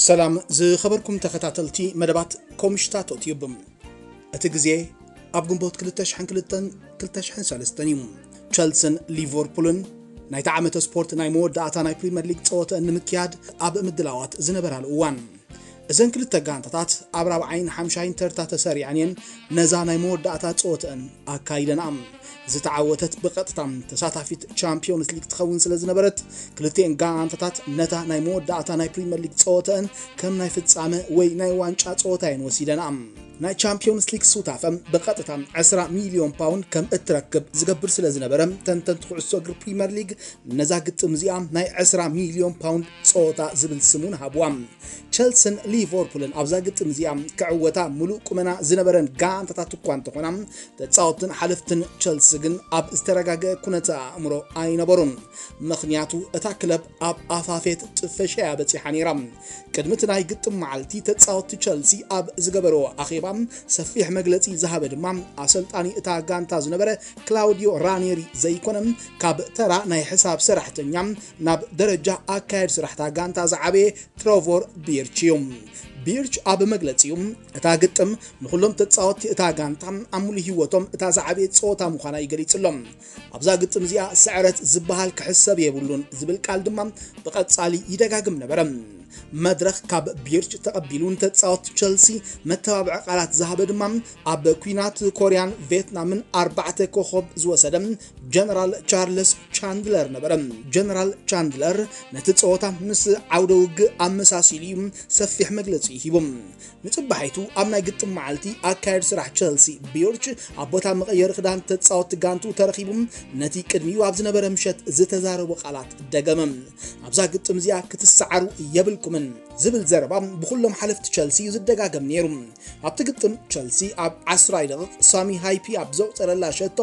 ሰላም ዝኸበርኩም ተኸታተልቲ መደባት ኮምሽታቶ ቲዩብ። እቲ ግዜ ኣብ ግንቦት ክልተ ሽሕን ክልተን ክልተ ሽሕን ሰለስተን እዩ። ቸልስን ሊቨርፑልን ናይቲ ዓመተ ስፖርት ናይ መወዳእታ ናይ ፕሪምየር ሊግ ጸወተአን ንምክያድ ኣብ ምድላዋት ዝነበራሉ እዋን፣ እዘን ክልተ ጋንታታት ኣብ ራብዓይን ሓምሻይን ተርታ ተሰሪዐን እየን ነዛ ናይ መወዳእታ ጸወተአን ኣካይደንኣ። ዝተዓወተት ብቐጥታ ተሳታፊት ቻምፒዮንስ ሊግ ትኸውን ስለ ዝነበረት፣ ክልቲኤን ጋንታታት ነታ ናይ መወዳእታ ናይ ፕሪምየር ሊግ ጸወተአን ከም ናይ ፍጻመ ወይ ናይ ዋንጫ ጸወታ እየን ወሲደንኣ። ናይ ቻምፒዮንስ ሊግ ሱታፈ ብቐጥታ ዕስራ ሚልዮን ፓውንድ ከም እትረክብ ዝገብር ስለ ዝነበረ፣ ተንተንቲ ኩዕሶ እግሪ ፕሪምየር ሊግ ነዛ ግጥም እዚኣ ናይ ዕስራ ሚልዮን ፓውንድ ጸወታ ዝብል ስም እውን ሃብዋ። ቸልስን ሊቨርፑልን ኣብዛ ግጥም እዚኣ ክዕወታ ምሉእ ቁመና ዝነበረን ጋንታታት እኳ እንተኾና፣ ተጻወትን ሓለፍትን ቸልሲ ግን ኣብ ዝተረጋገአ ኩነተ ኣእምሮ ኣይነበሩን። ምኽንያቱ እታ ክለብ ኣብ ኣፋፌት ጥፈሻ እያ በጺሓ ነይራ። ቅድሚ እቲ ናይ ግጥም መዓልቲ ተጻወትቲ ቸልሲ ኣብ ዝገበርዎ ኣኼባ ሰፊሕ መግለጺ ዝሃበ ድማ ኣሰልጣኒ እታ ጋንታ ዝነበረ ክላውዲዮ ራኔሪ ዘይኮነ፣ ካብ ተራ ናይ ሕሳብ ሰራሕተኛ ናብ ደረጃ ኣካየድ ስራሕታ ጋንታ ዝዓበየ ትሮቮር ቢርች እዩ። ቢርች ኣብ መግለጺኡ፣ እታ ግጥም ንኹሎም ተጻወትቲ እታ ጋንታ ኣብ ሙሉ ህይወቶም እታ ዝዓበየት ጸወታ ምዃና እዩ ገሊጹሎም። ኣብዛ ግጥም እዚኣ ስዕረት ዝበሃል ክሕሰብ የብሉን ዝብል ቃል ድማ ብቐጻሊ ይደጋግም ነበረ። መድረኽ ካብ ቢርች ተቐቢሉ ንተጻወትቲ ቸልሲ መተባብዒ ቃላት ዝሃበ ድማ ኣብ ኲናት ኮርያን ቬትናምን ኣርባዕተ ኮኸብ ዝወሰደ ጀነራል ቻርልስ ቻንድለር ነበረ። ጀነራል ቻንድለር ነቲ ጸወታ ምስ ዓውደ ውግእ ኣመሳሲሉ እዩ ሰፊሕ መግለጺ ሂቡ። ንጽባሒቱ ኣብ ናይ ግጥም መዓልቲ ኣካየድ ስራሕ ቸልሲ ቢርች ኣብ ቦታ መቐየሪ ክዳን ተጻወትቲ ጋንቱ ተረኺቡ ነቲ ቅድሚኡ ኣብ ዝነበረ ምሸት ዝተዛረቦ ቃላት ደገመ። ኣብዛ ግጥም እዚኣ ክትሰዓሩ የብልኩምን ዝብል ዘረባ ብኹሎም ሓለፍቲ ቸልሲ እዩ ዝደጋገም ነይሩ። ኣብቲ ግጥም ቸልሲ ኣብ ዓስራይ ደቂቕ ሳሚ ሃይፒ ኣብ ዘቑጸረላ ሸቶ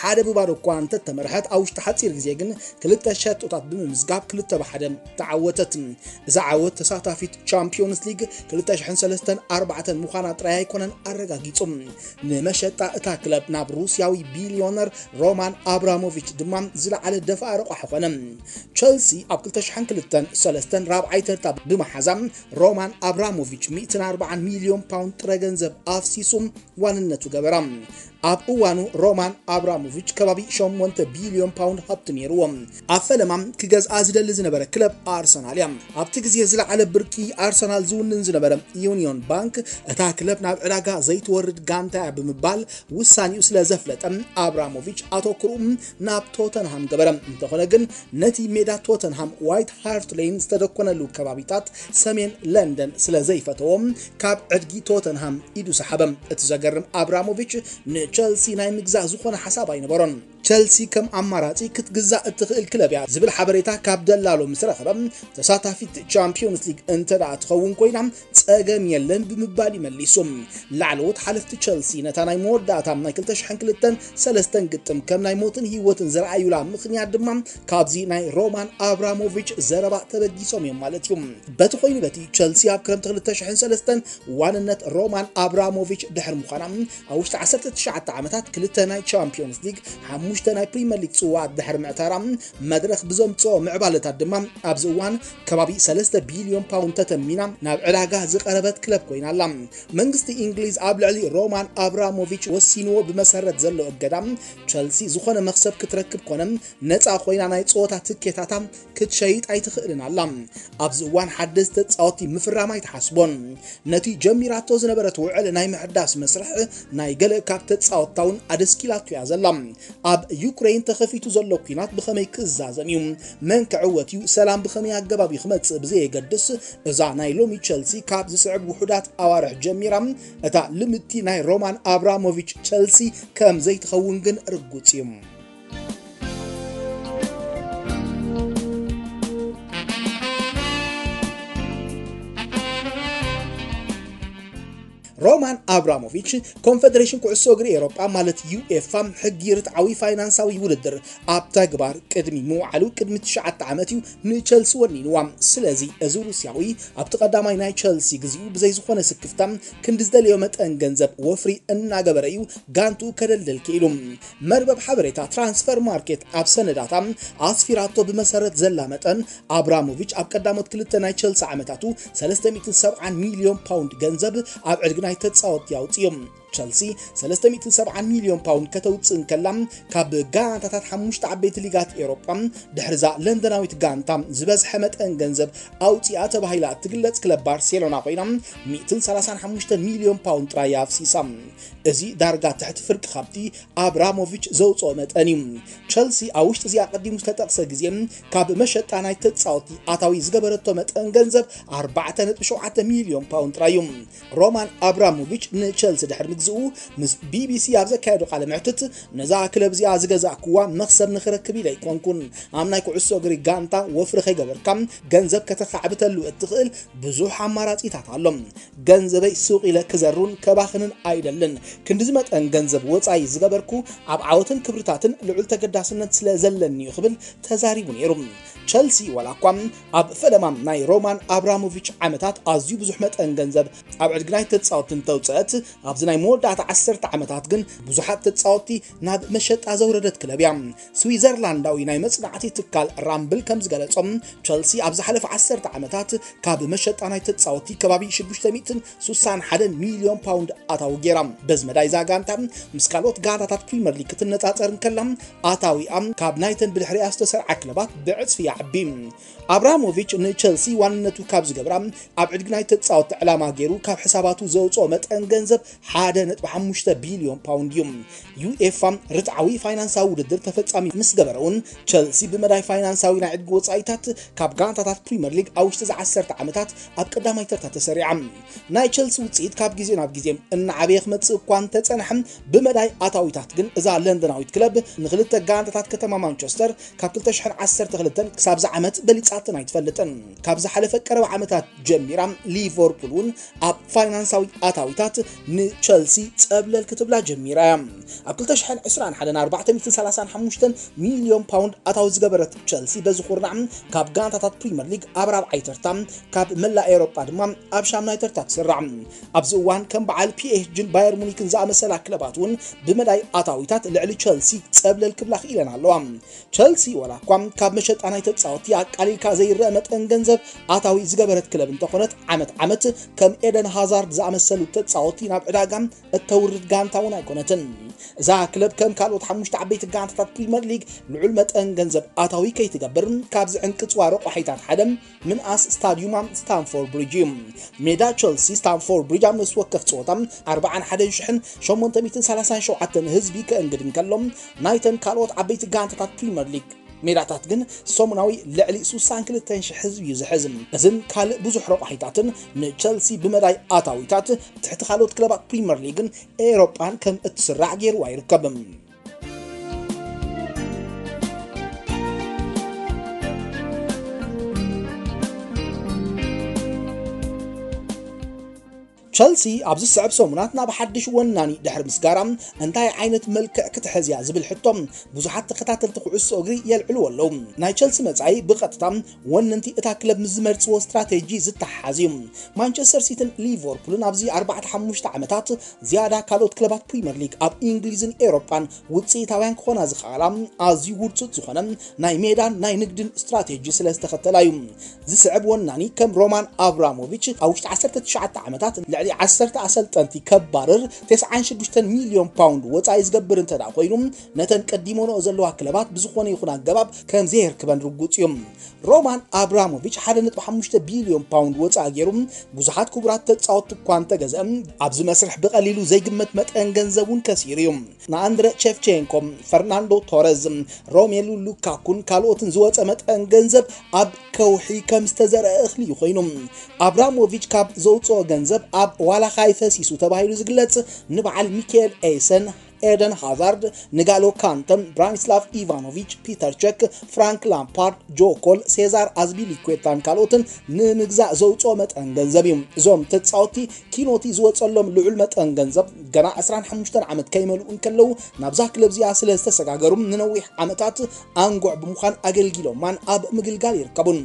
ሓደ ብባዶ እኳ እንተተመርሐት፣ ኣብ ውሽጢ ሓጺር ግዜ ግን ክልተ ሸቶታት ብምምዝጋብ ክልተ ብሓደ ተዓወተት። እዛ ዓወት ተሳታፊት ቻምፒዮንስ ሊግ ክልተ ሽሕን ሰለስተን ኣርባዕተን ምዃና ጥራይ ኣይኮነን ኣረጋጊጹ። ንመሸጣ እታ ክለብ ናብ ሩስያዊ ቢልዮነር ሮማን ኣብራሞቪች ድማ ዝለዓለ ደፋኢ ረቋሒ ኾነ። ቸልሲ ኣብ ክልተ ሽሕን ክልተን ሰለስተን ራብዓይ ተርታ ብምሓዛ፣ ሮማን ኣብራሞቪች ሚእትን ኣርባዓን ሚልዮን ፓውንድ ጥረ ገንዘብ ኣፍሲሱ ዋንነቱ ገበራ። ኣብ እዋኑ ሮማን ኣብራሞቪች ከባቢ ሸሞንተ ቢልዮን ፓውንድ ሃብቲ ነይርዎ። ኣብ ፈለማ ክገዝኣ ዝደሊ ዝነበረ ክለብ ኣርሰናል እያ። ኣብቲ ግዜ ዝለዓለ ብርቂ ኣርሰናል ዝውንን ዝነበረ ዩኒዮን ባንክ፣ እታ ክለብ ናብ ዕዳጋ ዘይትወርድ ጋንታ እያ ብምባል ውሳኔኡ ስለ ዘፍለጠ፣ ኣብራሞቪች ኣተኩርኡ ናብ ቶተንሃም ገበረ። እንተኾነ ግን፣ ነቲ ሜዳ ቶተንሃም ዋይት ሃርት ሌን ዝተደኮነሉ ከባቢታት ሰሜን ለንደን ስለ ዘይፈተዎ፣ ካብ ዕድጊ ቶተንሃም ኢዱ ሰሓበ። እቲ ዘገርም፣ ኣብራሞቪች ንቸልሲ ናይ ምግዛእ ዝኾነ ሓሳብ ኣይነበሮን። ቸልሲ ከም ኣማራጺ ክትግዛእ እትኽእል ክለብ እያ ዝብል ሓበሬታ ካብ ደላሎ ምስ ረኸበ፣ ተሳታፊት ቻምፒዮንስ ሊግ እንተ ደኣ ትኸውን ኮይና ጸገም የለን ብምባል እዩ መሊሱ። ላዕለዎት ሓለፍቲ ቸልሲ ነታ ናይ መወዳእታ ናይ ክልተ ሽሕን ክልተን ሰለስተን ግጥም ከም ናይ ሞትን ህይወትን ዝረኣዩላ ምኽንያት ድማ ካብዚ ናይ ሮማን ኣብራሞቪች ዘረባ ተበጊሶም እዮም ማለት እዩ። በቲ ኮይኑ በቲ ቸልሲ ኣብ ክረምቲ ክልተ ሽሕን ሰለስተን ዋንነት ሮማን ኣብራሞቪች ድሕሪ ምዃና፣ ኣብ ውሽጢ ዓሰርተ ትሽዓተ ዓመታት ክልተ ናይ ቻምፒዮንስ ሊግ፣ ሓሙሽተ ናይ ፕሪምየር ሊግ ጽዋኣት ድሕሪ ምዕታራ፣ መድረኽ ብዘምጽኦ ምዕባለታት ድማ ኣብዚ እዋን ከባቢ ሰለስተ ቢልዮን ፓውንድ ተተሚና ናብ ዕዳጋ ዝቐረበት ክለብ ኮይና ኣላ። መንግስቲ እንግሊዝ ኣብ ልዕሊ ሮማን ኣብራሞቪች ወሲንዎ ብመሰረት ዘሎ እገዳ፣ ቸልሲ ዝኾነ መኽሰብ ክትረክብ ኮነ ነጻ ኮይና ናይ ጸወታ ትኬታታ ክትሸይጥ ኣይትኽእልን ኣላ። ኣብዚ እዋን ሓደስቲ ተጻወትቲ ምፍራም ኣይትሓስቦን። ነቲ ጀሚራቶ ዝነበረት ውዕል ናይ ምሕዳስ መስርሕ ናይ ገለ ካብ ተጻወትታ እውን ኣደስኪላቶ እያ ዘላ። ኣብ ዩክሬን ተኸፊቱ ዘሎ ኲናት ብኸመይ ክዛዘም እዩ? መን ክዕወት እዩ? ሰላም ብኸመይ ኣገባብ እዩ ክመጽእ ብዘየገድስ፣ እዛ ናይ ሎሚ ቸልሲ ካብ ዝስዕብ ውሑዳት ኣዋርሕ ጀሚራ፣ እታ ልምድቲ ናይ ሮማን ኣብራሞቪች ቸልሲ ከም ዘይትኸውን ግን ርጉጽ እዩ። ሮማን ኣብራሞቪች ኮንፈደሬሽን ኩዕሶ እግሪ ኤውሮጳ ማለት ዩኤፋ ሕጊ ርትዓዊ ፋይናንሳዊ ውድድር ኣብ ተግባር ቅድሚ ምውዓሉ ቅድሚ ትሽዓተ ዓመት እዩ ንቸልሲ ወኒንዋ። ስለዚ እዚ ሩስያዊ ኣብቲ ቀዳማይ ናይ ቸልሲ ግዚኡ ብዘይ ዝኾነ ስክፍታ ክንዲ ዝደለዮ መጠን ገንዘብ ወፍሪ እናገበረ እዩ ጋንቱ ከደልድል ክኢሉ። መርበብ ሓበሬታ ትራንስፈር ማርኬት ኣብ ሰነዳታ ኣስፊራቶ ብመሰረት ዘላ መጠን ኣብራሞቪች ኣብ ቀዳሞት ክልተ ናይ ቸልሲ ዓመታቱ ሰለስተ ሚእትን ሰብዓን ሚልዮን ፓውንድ ገንዘብ ኣብ ዕድጊ ናይ ተጻወትቲ ኣውጽኡ። ቸልሲ ሰለስተ ሚእትን ሰብዓን ሚልዮን ፓውንድ ከተውጽእ እንከላ ካብ ጋንታታት ሓሙሽተ ዓበይቲ ሊጋት ኤውሮጳ ድሕርዛ ለንደናዊት ጋንታ ዝበዝሐ መጠን ገንዘብ ኣውጽኣ ተባሂላ እትግለጽ ክለብ ባርሴሎና ኮይና ሚእትን ሰላሳን ሓሙሽተ ሚልዮን ፓውንድ ጥራይ ኣፍሲሳ። እዚ ዳርጋ ትሕቲ ፍርቂ ካብቲ ኣብራሞቪች ዘውጽኦ መጠን እዩ። ቸልሲ ኣብ ውሽጢ እዚ ኣቐዲሙ ዝተጠቕሰ ግዜ ካብ መሸጣ ናይ ተጻወቲ ኣታዊ ዝገበረቶ መጠን ገንዘብ ኣርባዕተ ነጥቢ ሸውዓተ ሚልዮን ፓውንድ ጥራይ እዩ። ሮማን ኣብራሞቪች ንቸልሲ ድሕሪ ምግዝኡ ምስ ቢቢሲ ኣብ ዘካየዶ ቃለ መሕትት ነዛ ክለብ እዚኣ ዝገዛእክዋ መኽሰብ ንኽረክብ ኢለ ኣይኮንኩን። ኣብ ናይ ኩዕሶ እግሪ ጋንታ ወፍሪ ከይገበርካ ገንዘብ ከተኻዕብተሉ እትኽእል ብዙሕ ኣማራጺታት ኣሎ። ገንዘበይ ሱቕ ኢለ ክዘሩን ከባኽንን ኣይደልን። ክንድዚ መጠን ገንዘብ ወጻኢ ዝገበርኩ ኣብ ዓወትን ክብርታትን ልዑል ተገዳስነት ስለ ዘለኒ እዩ ክብል ተዛሪቡ ነይሩ። ቸልሲ ዋላ እኳ ኣብ ፈለማ ናይ ሮማን ኣብራሞቪች ዓመታት ኣዝዩ ብዙሕ መጠን ገንዘብ ኣብ ዕድጊ ናይ ተጻወቲ እንተውጸአት ኣብዚ ናይ መወዳእታ ዓሰርተ ዓመታት ግን ብዙሓት ተጻወቲ ናብ መሸጣ ዘውረደት ክለብ እያ። ስዊዘርላንዳዊ ናይ መጽናዕቲ ትካል ራምብል ከም ዝገለጾም ቸልሲ ኣብ ዝሓለፈ ዓሰርተ ዓመታት ካብ መሸጣ ናይ ተጻወቲ ከባቢ ሽዱሽተ ሚእትን ሱሳን ሓደን ሚልዮን ፓውንድ ኣታዊ ገይራ። በዚ መዳይ እዛ ጋንታ ምስ ካልኦት ጋንታታት ፕሪምየር ሊግ ክትነጻጸር እንከላ ኣታዊኣ ካብ ናይተን ብድሕሪኣ ዝተሰርዓ ክለባት ብዕጽፊ ይዓቢ። ኣብራሞቪች ንቸልሲ ዋንነቱ ካብ ዝገብራ ኣብ ዕድጊ ናይ ተጻወቲ ዕላማ ገይሩ ካብ ሕሳባቱ ዘውጽኦ መጠን ገንዘብ ሓደ ነጥቢ ሓሙሽተ ቢልዮን ፓውንድ እዩ። ዩኤፋ ርትዓዊ ፋይናንሳዊ ውድድር ተፈጻሚ ምስ ገበረ እውን ቸልሲ ብመዳይ ፋይናንሳዊ ናይ ዕድጊ ወጻኢታት ካብ ጋንታታት ፕሪምየር ሊግ ኣብ ውሽጢ እዚ ዓሰርተ ዓመታት ኣብ ቀዳማይ ተርታ ተሰሪዓ። ናይ ቸልሲ ውጽኢት ካብ ግዜ ናብ ግዜ እናዓበየ ክመጽእ እኳ እንተጸንሐ ብመዳይ ኣታዊታት ግን እዛ ለንደናዊት ክለብ ንክልተ ጋንታታት ከተማ ማንቸስተር ካብ ክልተ ሽሕን ዓሰርተ ክልተን ክሳብ እዚ ዓመት በሊጻተን ኣይትፈልጥን። ካብ ዝሓለፈ ቀረባ ዓመታት ጀሚራ ሊቨርፑል እውን ኣብ ፋይናንሳዊ ኣታዊታት ንቸልሲ ጸብለል ክትብላ ጀሚራ እያ። ኣብ ክልተ ሽሕን ዕስራን ሓደን ኣርባዕተ ሚእትን ሰላሳን ሓሙሽተን ሚልዮን ፓውንድ ኣታዊ ዝገበረት ቸልሲ በዚ ኩርናዕ ካብ ጋንታታት ፕሪምየር ሊግ ኣብ ራብዓይ ተርታ ካብ መላእ ኤውሮጳ ድማ ኣብ ሻምናይ ተርታ ትስራዕ። ኣብዚ እዋን ከም በዓል ፒኤስጂን ባየር ሙኒክን ዝኣመሰላ ክለባት እውን ብመዳይ ኣታዊታት ልዕሊ ቸልሲ ጸብለል ክብላ ክኢለን ኣለዋ። ቸልሲ ዋላ እኳ ካብ መሸጣ ናይ ተጻወቲ ኣቃሊልካ ዘይረአ መጠን ገንዘብ ኣታዊ ዝገበረት ክለብ እንተኾነት ዓመት ዓመት ከም ኤደን ሃዛርድ ዝኣመሰሉ ተጻወቲ ናብ ዕዳጋ እተውርድ ጋንታ እውን ኣይኮነትን። እዛ ክለብ ከም ካልኦት ሓሙሽተ ዓበይቲ ጋንታታት ፕሪምየር ሊግ ልዑል መጠን ገንዘብ ኣታዊ ከይትገብር ካብ ዝዕንቅጽዋ ረቋሒታት ሓደ ምንኣስ ስታዲዩማ ስታንፎርድ ብሪጅ እዩ። ሜዳ ቸልሲ ስታንፎርድ ብሪጅ ኣብ ነፍሲ ወከፍ ጸወታ ኣርባዓን ሓደን ሽሕን ሸሞንተ ሚእትን ሰላሳን ሸውዓተን ህዝቢ ከእንግድ እንከሎ ናይተን ካልኦት ዓበይቲ ጋንታታት ፕሪምየር ሊግ ሜዳታት ግን ሰሙናዊ ልዕሊ ሱሳን ክልተን ሽሕ ህዝቢ እዩ ዝሕዝ። እዝን ካልእ ብዙሕ ረቋሒታትን ንቸልሲ ብመዳይ ኣታዊታት ትሕቲ ካልኦት ክለባት ፕሪምየር ሊግን ኤውሮጳን ከም እትስራዕ ገይርዋ ይርከብ። ቸልሲ ኣብዚ ዝስዕብ ሰሙናት ናብ ሓድሽ ወናኒ ድሕሪ ምስጋራ እንታይ ዓይነት መልክዕ ክትሕዝ እያ ዝብል ሕቶ ብዙሓት ተኸታተልቲ ኩዕሶ እግሪ የልዕልዎ ኣለዉ። ናይ ቸልሲ መጻኢ ብቐጥታ ወነንቲ እታ ክለብ ምስ ዝመርጽዎ ስትራቴጂ ዝተሓሓዝ እዩ። ማንቸስተር ሲቲን ሊቨርፑልን ኣብዚ ኣርባዕተ ሓሙሽተ ዓመታት ዝያዳ ካልኦት ክለባት ፕሪምየር ሊግ ኣብ እንግሊዝን ኤውሮጳን ውጽኢታውያን ክኾና ዝኸኣላ ኣዝዩ ውርጹጽ ዝኾነ ናይ ሜዳን ናይ ንግድን ስትራቴጂ ስለ ዝተኸተላ እዩ። ዝስዕብ ወናኒ ከም ሮማን ኣብራሞቪች ኣብ ውሽጢ ዓሰርተ ትሽዓተ ዓመታት ልዕሊ ዓሰርተ ኣሰልጠንቲ ከባርር ተስዓን ሽዱሽተን ሚልዮን ፓውንድ ወጻኢ ዝገብር እንተ ደኣ ኮይኑ ነተን ቀዲሞንኦ ዘለዋ ክለባት ብዝኾነ ይኹን ኣገባብ ከም ዘየርክበን ርጉጽ እዩ። ሮማን ኣብራሞቪች ሓደ ነጥቢ ሓሙሽተ ቢልዮን ፓውንድ ወጻኢ ገይሩ ብዙሓት ክቡራት ተጻወትቲ እኳ እንተገዝአ ኣብዚ መስርሕ ብቐሊሉ ዘይግመት መጠን ገንዘብ እውን ከሲሩ እዩ። ንኣንድረ ቸፍቼንኮ፣ ፈርናንዶ ቶረዝ፣ ሮሜሉ ሉካኩን ካልኦትን ዝወጸ መጠን ገንዘብ ኣብ ከውሒ ከም ዝተዘርአ እኽሊ እዩ ኮይኑ። ኣብራሞቪች ካብ ዘውጽኦ ገንዘብ ኣብ ዋላ ካይ ፈሲሱ ተባሂሉ ዝግለጽ ንበዓል ሚካኤል ኤይሰን ኤደን ሃዛርድ፣ ንጋሎ ካንተን፣ ብራኒስላቭ ኢቫኖቪች፣ ፒተር ቸክ፣ ፍራንክ ላምፓርድ፣ ጆ ኮል፣ ሴዛር ኣዝፒሊኩዌታን ካልኦትን ንምግዛእ ዘውፅኦ መጠን ገንዘብ እዩ። እዞም ተፃወቲ ኪኖቲ ዝወፀሎም ልዑል መጠን ገንዘብ ገና ዕስራን ሓሙሽተን ዓመት ከይመልኡ እንከለዉ ናብዛ ክለብ እዚኣ ስለ ዝተሰጋገሩ ንነዊሕ ዓመታት ኣንጉዕ ብምዃን ኣገልጊሎማን ኣብ ምግልጋል ይርከቡን።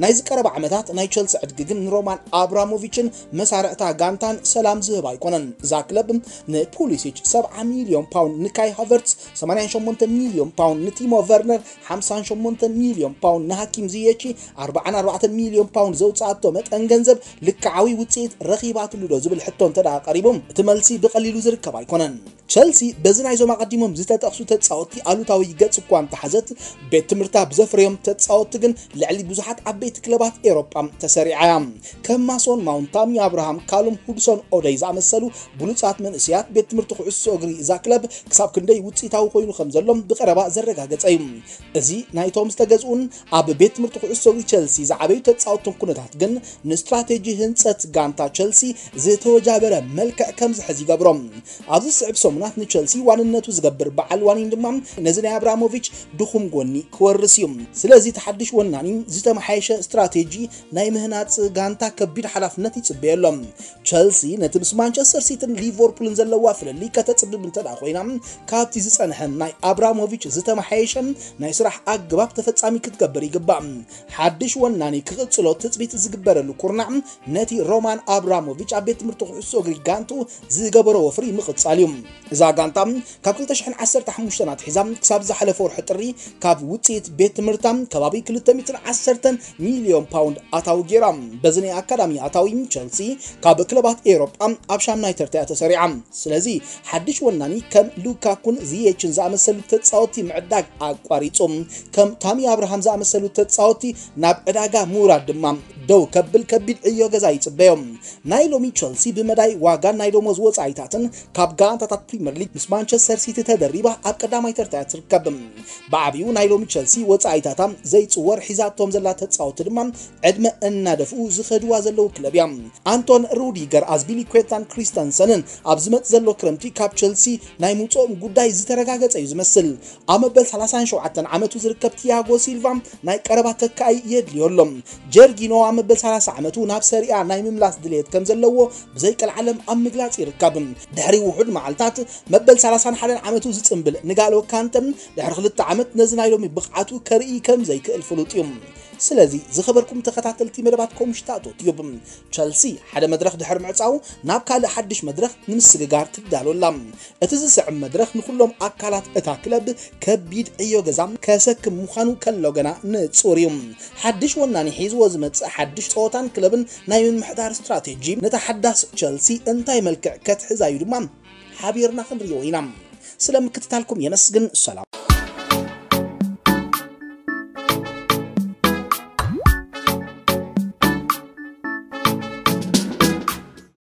ናይዚ ቀረባ ዓመታት ናይ ቸልሲ ዕድጊ ግን ንሮማን ኣብራሞቪችን መሳርዕታ ጋንታን ሰላም ዝህብ ኣይኮነን። እዛ ክለብ ንፑሊሲች ሰብዓ ሚልዮን ፓውንድ፣ ንካይ ሃቨርትስ ሰማንያን ሸሞንተ ሚልዮን ፓውንድ፣ ንቲሞ ቨርነር ሓምሳን ሸሞንተ ሚልዮን ፓውንድ፣ ንሃኪም ዝየቺ ኣርባዓን ኣርባዕተን ሚልዮን ፓውንድ ዘውፅኣቶ መጠን ገንዘብ ልክዓዊ ውፅኢት ረኺባትሉ ዶ ዝብል ሕቶ እንተ ደኣ ቀሪቡ እቲ መልሲ ብቐሊሉ ዝርከብ ኣይኮነን። ቸልሲ በዚ ናይዞም ኣቐዲሞም ዝተጠቕሱ ተፃወቲ ኣሉታዊ ገፅ እኳ እንተሓዘት፣ ቤት ትምህርታ ብዘፍረዮም ተፃወቲ ግን ልዕሊ ብዙሓት ዓበይቲ ክለባት ኤሮጳ ተሰሪዓ እያ። ከም ማሶን ማውንት፣ ታሚ ኣብርሃም፣ ካሉም ሁድሶን ኦደይ ዝኣመሰሉ ብሉፃት መንእሰያት ቤት ትምህርቲ ኩዕሶ እግሪ እዛ ክለብ ክሳብ ክንደይ ውፅኢታዊ ኮይኑ ከም ዘሎ ብቐረባ ዘረጋገፀ እዩ። እዚ ናይቶም ዝተገዝኡን ኣብ ቤት ትምህርቲ ኩዕሶ እግሪ ቸልሲ ዝዓበዩ ተፃወትን ኩነታት ግን ንስትራቴጂ ህንፀት ጋንታ ቸልሲ ዝተወጃበረ መልክዕ ከም ዝሕዝ ይገብሮ። ኣብዚ ዝስዕብ ሰሙናት ንቸልሲ ዋንነቱ ዝገብር በዓል ዋኒን ድማ ነዚ ናይ ኣብራሞቪች ድኹም ጎኒ ክወርስ እዩ። ስለዚ እቲ ሓድሽ ወናኒ ዝተመሓየሸ ስትራቴጂ ናይ ምህናፅ ጋንታ ከቢድ ሓላፍነት ይፅበየሎም። ቸልሲ ነቲ ምስ ማንቸስተር ሲቲን ሊቨርፑልን ዘለዋ ፍልልይ ከተፅብብ እንተ ደኣ ኮይና፣ ካብቲ ዝጸንሐ ናይ ኣብራሞቪች ዝተመሓየሸ ናይ ስራሕ ኣገባብ ተፈጻሚ ክትገብር ይግባእ። ሓድሽ ወናኒ ክቕጽሎ ትጽቢት ዝግበረሉ ኩርናዕ ነቲ ሮማን ኣብራሞቪች ኣብ ቤት ትምህርቲ ኩዕሶ እግሪ ጋንቱ ዝገበሮ ወፍሪ ምቕጻል እዩ። እዛ ጋንታ ካብ ክልተ ሽሕን ዓሰርተ ሓሙሽተን ኣትሒዛ ክሳብ ዝሓለፈ ወርሒ ጥሪ ካብ ውጽኢት ቤት ትምህርታ ከባቢ ክልተ ሚእትን ዓሰርተን ሚልዮን ፓውንድ ኣታዊ ገይራ። በዚ ናይ ኣካዳሚ ኣታዊ ቸልሲ ካብ ክለባት ኤውሮጳ ኣብ ሻምናይ ተርታ እያ ተሰሪዓ። ስለዚ ሓድሽ ወናኒ ከም ሉካኩን ዚየችን ዝኣመሰሉ ተጻወቲ ምዕዳግ ኣቋሪጹ። ከም ታሚ ኣብርሃም ዝኣመሰሉ ተጻወቲ ናብ ዕዳጋ ምውራድ ድማ ደው ከብል ከቢድ ዕዮ ገዛ ይጽበዮም። ናይ ሎሚ ቸልሲ ብመዳይ ዋጋን ናይ ደሞዝ ወጻኢታትን ካብ ጋንታታት ፕሪምየር ሊግ ምስ ማንቸስተር ሲቲ ተደሪባ ኣብ ቀዳማይ ተርታ እያ ትርከብ። ብዓቢኡ ናይ ሎሚ ቸልሲ ወጻኢታታ ዘይጽወር ሒዛቶም ዘላ ተጻወቲ ድማ ዕድመ እናደፍኡ ዝኸድዋ ዘለዉ ክለብ እያ። ኣንቶን ሩዲገር፣ ኣዝፒሊኩዌታን ክሪስተንሰንን ኣብ ዝመጽእ ዘሎ ክረምቲ ካብ ቸልሲ ናይ ምውጽኦም ጉዳይ ዝተረጋገጸ እዩ ዝመስል። ኣብ መበል ሰላሳን ሸውዓተን ዓመቱ ዝርከብ ቲያጎ ሲልቫ ናይ ቀረባ ተካኢ የድልዮ ኣሎ። ጀርጊኖ ኣብ መበል ሰላሳ ዓመቱ ናብ ሰሪኣ ናይ ምምላስ ድሌት ከም ዘለዎ ብዘይቀልዓለም ኣብ ምግላጽ ይርከብ። ድሕሪ ውሑድ መዓልታት መበል ሰላሳን ሓደን ዓመቱ ዝጽንብል ንጋሎ ካንተ ድሕሪ ክልተ ዓመት ነዚ ናይ ሎሚ ብቕዓቱ ከርኢ ከም ዘይክእል ፍሉጥ እዩ። ስለዚ ዝኸበርኩም ተኸታተልቲ መደባት ኮምሽታቶ ቲዩብ፣ ቸልሲ ሓደ መድረኽ ድሕሪ ምዕጻው ናብ ካልእ ሓድሽ መድረኽ ንምስግጋር ትዳሎ ኣላ። እቲ ዝስዕብ መድረኽ ንኹሎም ኣካላት እታ ክለብ ከቢድ ዕዮ ገዛ ከሰክም ምዃኑ ከሎ ገና ንጹር እዩ። ሓድሽ ወናኒ ሒዝዎ ዝመጽእ ሓድሽ ጸወታን ክለብን ናይ ምምሕዳር ስትራቴጂ ነታ ሓዳስ ቸልሲ እንታይ መልክዕ ከትሕዛ እዩ ድማ ሓቢርና ክንሪኦ ኢና። ስለ ምክትታልኩም የመስግን። ሰላም።